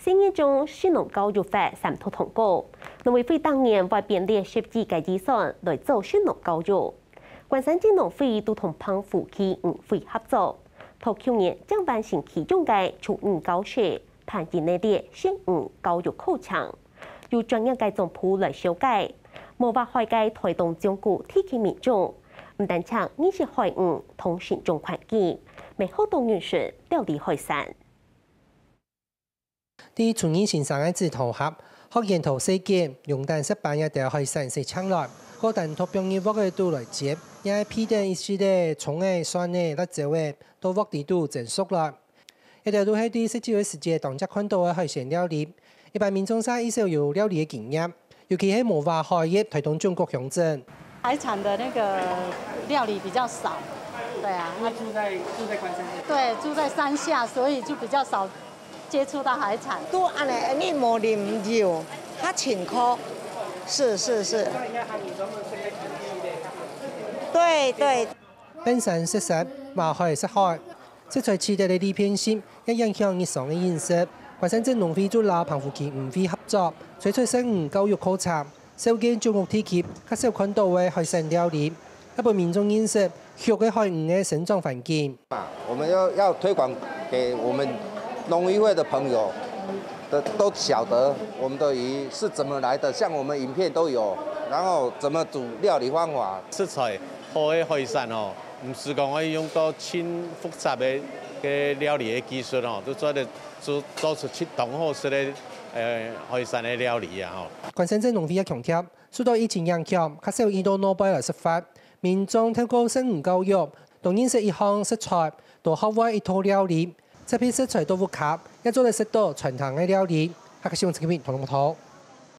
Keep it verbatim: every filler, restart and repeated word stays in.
第二章食農教育法三讀通過，農委會逐年會編列十億个預算來做食農教育。關山鎮農會都同澎湖區漁會合作，到舊年正完成其中个初二教室，辦理一列食魚教育課程。有專業个總鋪來紹介，無劃海个台東縱谷地區民眾，毋單淨認識海魚同生長環境，乜學到認識料理海產。 在初二先生个指導下，學員挩細揀、用等石斑這兜海產洗淨來，過單獨放入鑊仔肚來煎，也係配等一息仔蔥仔、蒜仔、辣椒仔，到鑊裡肚煎熟來。這兜都係在食酒个時節當常看到个海鮮料理。一般民眾嗄異少有料理个經驗，尤其係無劃海入台東縱谷鄉鎮。 海產的那個料理比較少。對啊，因為住在住在關山這邊。對，住在山下，所以就比較少接觸到海產。都恁呢，你無啉酒，較清苦。是是是。那應該他們都是在平地的。對對。半山食山，跨海食海，食材取得个利便性，也影響日常个飲食。關山鎮農會就摎澎湖區漁會合作，推出食魚教育課程， 紹介縱谷地區較少看到个海產料理，也分民眾認識畜个海魚个生長環境。我們要要推廣給我們農漁會的朋友的都曉得我們的魚是怎麼來的，像我們影片都有，然後怎麼煮料理方法。食材好个海產哦，毋使講愛用到盡複雜个个料理个技術哦，都做得做做出當好食个呃海產个料理啊吼。關山鎮農會也強調， 受到疫情影響，較少移到外背來食飯。民眾透過食魚教育，多認識一項食材，多學會一道料理。特別食材到屋下，也做得食到餐廳个料理。客家新聞陳啟明、唐龍報導。